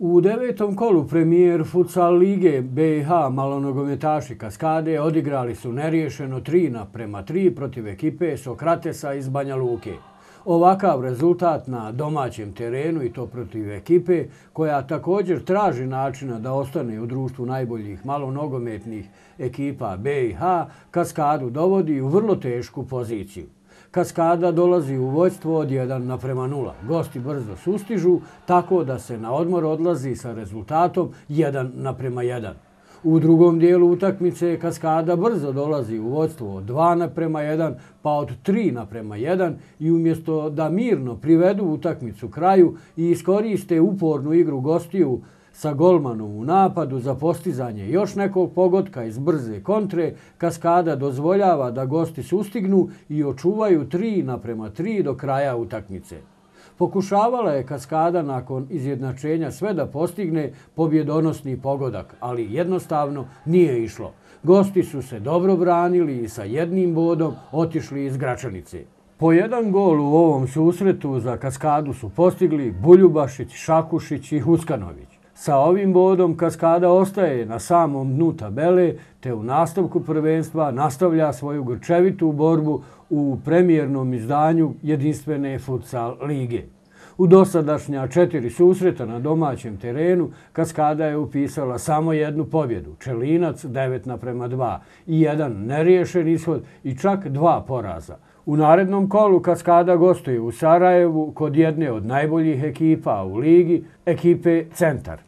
U devetom kolu premijer futsal lige BiH malonogometaši Kaskade odigrali su neriješeno 3:3 protiv ekipe Sokratesa iz Banja Luke. Ovakav rezultat na domaćem terenu i to protiv ekipe koja također traži načina da ostane u društvu najboljih malonogometnih ekipa BiH, Kaskadu dovodi u vrlo tešku poziciju. Kaskada dolazi u vođstvo od 1:0. Gosti brzo sustižu, tako da se na odmor odlazi sa rezultatom 1:1. U drugom dijelu utakmice Kaskada brzo dolazi u vođstvo od 2:1 pa od 3:1 i umjesto da mirno privedu utakmicu kraju i iskoriste upornu igru gostiju sa golmanom u napadu za postizanje još nekog pogotka iz brze kontre, Kaskada dozvoljava da gosti sustignu i očuvaju 3:3 do kraja utakmice. Pokušavala je Kaskada nakon izjednačenja sve da postigne pobjedonosni pogodak, ali jednostavno nije išlo. Gosti su se dobro branili i sa jednim bodom otišli iz Gračanice. Po jedan gol u ovom susretu za Kaskadu su postigli Buljubašić, Šakušić i Huskanović. Sa ovim bodom Kaskada ostaje na samom dnu tabele te u nastavku prvenstva nastavlja svoju grčevitu borbu u premijernom izdanju jedinstvene futsal lige. U dosadašnja 4 susreta na domaćem terenu Kaskada je upisala samo jednu pobjedu, Čelinac 9:2 i jedan neriješen ishod i čak 2 poraza. U narednom kolu Kaskada gostuje u Sarajevu kod jedne od najboljih ekipa u ligi, ekipe Centar.